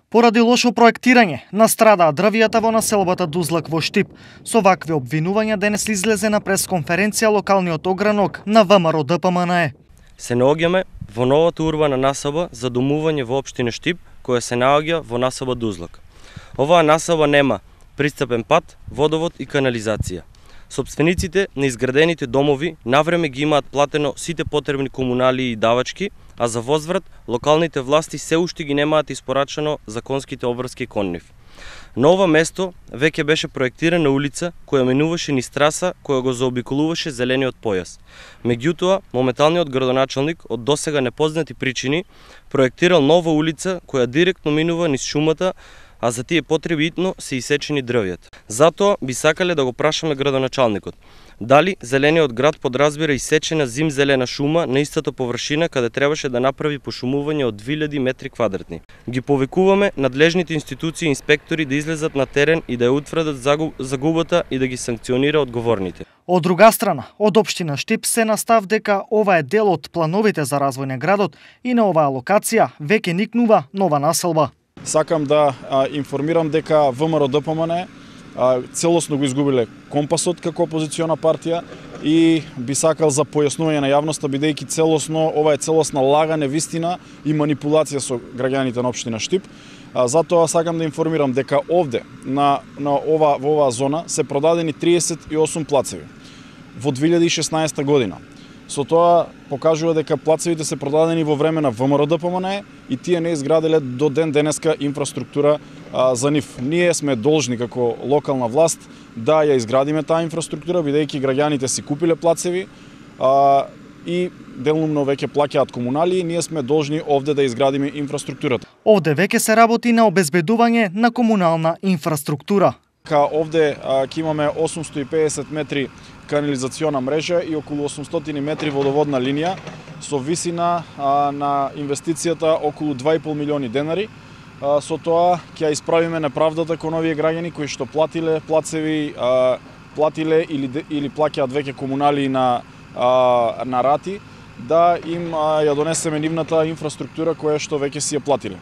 Поради лошо проектирање, настрадаа дрвијата во населбата Дузлак во Штип. Со вакви обвинувања денес излезе на пресконференција локалниот огранок на ВМРО ДПМНЕ. Се наоѓаме во новата урбана населба за домување во општина Штип, која се наоѓа во населба Дузлак. Оваа населба нема пристапен пат, водовод и канализација. Сопствениците на изградените домови навреме ги имаат платено сите потребни комуналии и давачки, а за возврат локалните власти се уште ги немаат испорачано законските обврски кон нив. На ова место веќе беше проектирана улица која минуваше низ траса која го заобиколуваше зелениот појас. Меѓутоа, моменталниот градоначалник од досега непознати причини проектирал нова улица која директно минува низ шумата, а за тие потреби итно се исечени дрвијата. Затоа би сакале да го прашаме градоначалникот дали зелениот град подразбира исечена зимзелена шума на истата површина каде требаше да направи пошумување од 2000 метри квадратни. Ги повикуваме надлежните институции и инспектори да излезат на терен и да ја утврдат загубата и да ги санкционира одговорните. Од друга страна, од општина Штип се настав дека ова е дел од плановите за развој на градот и на оваа локација веќе никнува нова населба. Сакам да информирам дека ВМРО ДПМНЕ целосно го изгубиле компасот како опозициона партија и би сакал за појаснување на јавноста, бидејќи целосно ова е целосна лага, невистина и манипулација со граѓаните на општина Штип. Затоа сакам да информирам дека овде во оваа зона се продадени 38 плацеви во 2016 година. Со тоа покажува дека плацевите се продадени во време на ВМРО ДПМНЕ и тие не изграделе до ден денеска инфраструктура за нив. Ние сме должни како локална власт да ја изградиме таа инфраструктура, бидејќи граѓаните си купиле плацеви и делумно веќе плаќаат комунали, ние сме должни овде да изградиме инфраструктурата. Овде веќе се работи на обезбедување на комунална инфраструктура. Овде ќе имаме 850 метри канализациона мрежа и околу 800 метри водоводна линија со висина на инвестицијата околу 2,5 милиони денари. Со тоа ќе исправиме неправдата кон овие граѓани кои што платиле плацеви, платиле или плаќаат веќе комунали на рати, да им ја донесеме нивната инфраструктура која што веќе си ја платиле.